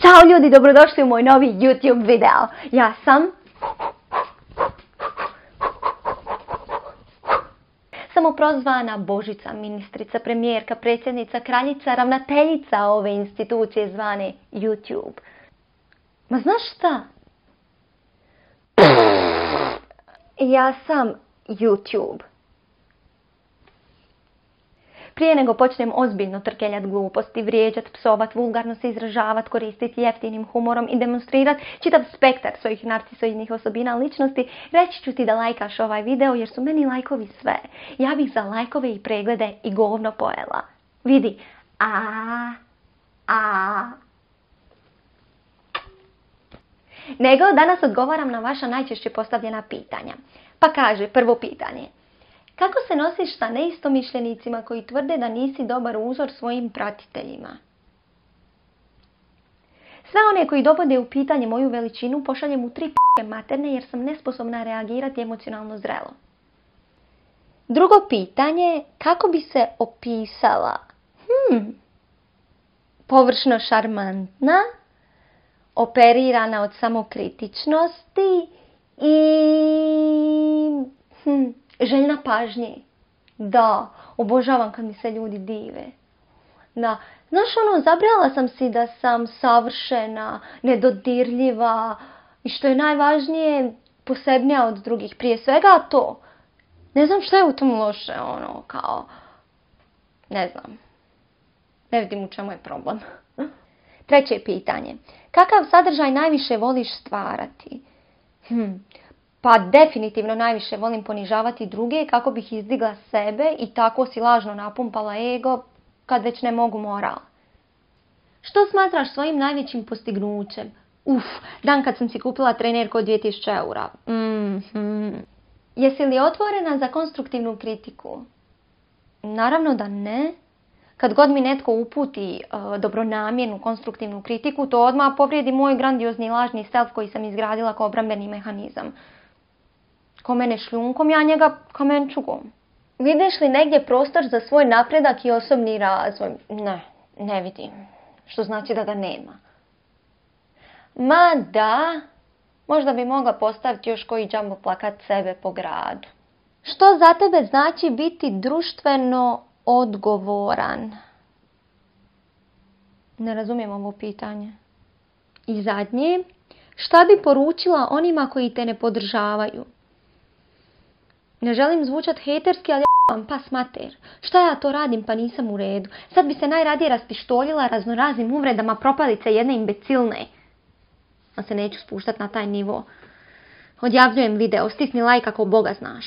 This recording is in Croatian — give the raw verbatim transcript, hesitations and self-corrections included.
Ćao ljudi, dobrodošli u moj novi YouTube video. Ja sam samoprozvana Božica, ministrica, premijerka, predsjednica, kraljica, ravnateljica ove institucije zvane YouTube. Ma znaš šta? Ja sam YouTube. Prije nego počnem ozbiljno trkeljat gluposti, vrijeđat, psovat, vulgarno se izražavat, koristiti jeftinim humorom i demonstrirat čitav spektar svojih narcisoidnih osobina ličnosti, reći ću ti da lajkaš ovaj video jer su meni lajkovi sve. Ja bih za lajkove i preglede i govno pojela. Vidi. A, a. Nego danas odgovaram na vaša najčešće postavljena pitanja. Pa kaže prvo pitanje. Kako se nosiš sa neistomišljenicima koji tvrde da nisi dobar uzor svojim pratiteljima? Sve one koji dovode u pitanje moju veličinu pošaljem u tri p***e materne jer sam nesposobna reagirati emocionalno zrelo. Drugo pitanje, kako bi se opisala? Hmm, površno šarmantna, operirana od samokritičnosti i... Hmm, željna pažnje. Da, obožavam kad mi se ljudi dive. Da, znaš ono, zabrala sam si da sam savršena, nedodirljiva i što je najvažnije, posebnija od drugih. Prije svega to. Ne znam šta je u tom loše, ono, kao, ne znam. Ne vidim u čemu je problem. Treće pitanje. Kakav sadržaj najviše voliš stvarati? Hm. Pa definitivno najviše volim ponižavati druge kako bih izdigla sebe i tako si lažno napumpala ego kad već ne mogu moral. Što smatraš svojim najvećim postignućem? Uf, dan kad sam si kupila trenerku od dvije tisuće eura. Mm-hmm. Jesi li otvorena za konstruktivnu kritiku? Naravno da ne. Kad god mi netko uputi uh, dobronamjernu konstruktivnu kritiku, to odmah povrijedi moj grandiozni lažni self koji sam izgradila kao obrambeni mehanizam. Ko mene šljunkom, ja njega kamenčugom. Vidiš li negdje prostor za svoj napredak i osobni razvoj? Ne, ne vidim. Što znači da ga nema. Ma da, možda bi mogla postaviti još koji džambo plakat sebe po gradu. Što za tebe znači biti društveno odgovoran? Ne razumijem ovo pitanje. I zadnje, šta bi poručila onima koji te ne podržavaju? Ne želim zvučat hejterski, ali ja vam pas mater. Šta ja to radim pa nisam u redu? Sad bi se najradije raspištoljila raznoraznim uvredama propalice jedne imbecilne. A se neću spuštat na taj nivo. Odjavljujem video, stisni like ako Boga znaš.